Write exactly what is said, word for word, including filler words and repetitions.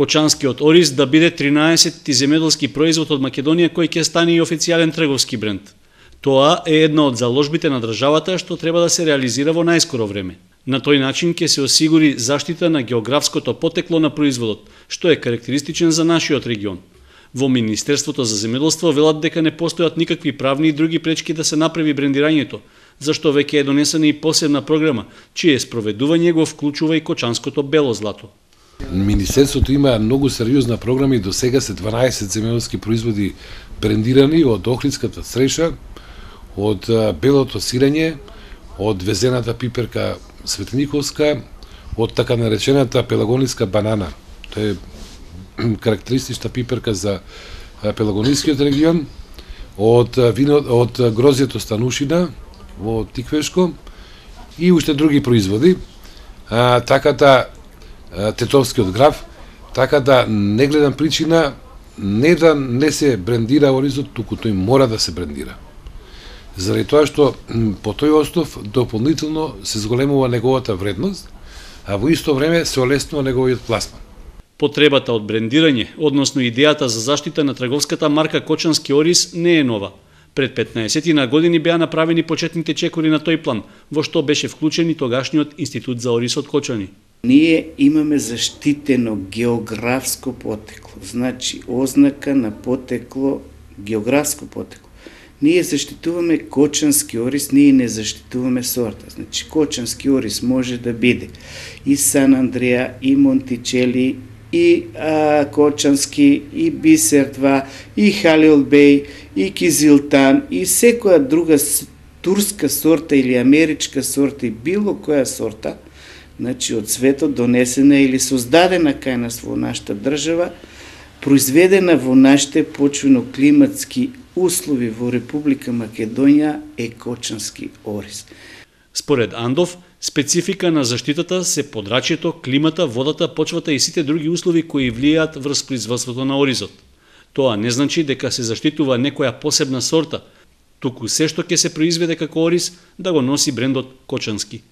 Кочанскиот ориз да биде тринаесетти земјоделски производ од Македонија кој ќе стане и официјален трговски бренд. Тоа е една од заложбите на државата што треба да се реализира во најскоро време. На тој начин ќе се осигури заштита на географското потекло на производот, што е карактеристичен за нашиот регион. Во Министерството за земјоделство велат дека не постојат никакви правни и други пречки да се направи брендирањето, зашто веќе е донесена и посебна програма, чие спроведување го вклучува и кочанското бело злато. Министерството има многу сериозна програма и до сега се дванаесет земјоделски производи брендирани од охридската цреша, од белото сирење, од везената пиперка светлиниковска, од така наречената пелагоничка банана. Тоа е карактеристична пиперка за пелагонискиот регион, од вино, од грозјето станушина во Тиквешко и уште други производи. А, така да Тетовскиот граф, така да не гледам причина не да не се брендира оризот, туку тој мора да се брендира. Заради тоа што по тој основ дополнително се зголемува неговата вредност, а во исто време се олеснува неговиот пласман. Потребата од брендирање, односно идејата за заштита на трговската марка Кочански ориз не е нова. Пред петнаесет години беа направени почетните чекори на тој план, во што беше вклучен и тогашниот Институт за ориз од Кочани. Ние имаме заштитено географско потекло, значи ознака на потекло, географско потекло. Ние заштитуваме кочански ориз, ние не заштитуваме сорта. Значи кочански ориз може да биде и Сан Андреа, и Монтичели, и а, Кочански, и Бисер два, и Халил Бей, и Кизилтан, и секоја друга турска сорта или америчка сорта, и било која сорта, значи од светот донесена или создадена кај нас во нашата држава, произведена во нашите почвено-климатски услови во Република Македонија е кочански ориз. Според Андов, специфика на заштитата се подрачјето, климата, водата, почвата и сите други услови кои влијаат врз производството на оризот. Тоа не значи дека се заштитува некоја посебна сорта, туку се што ќе се произведе како ориз да го носи брендот Кочански.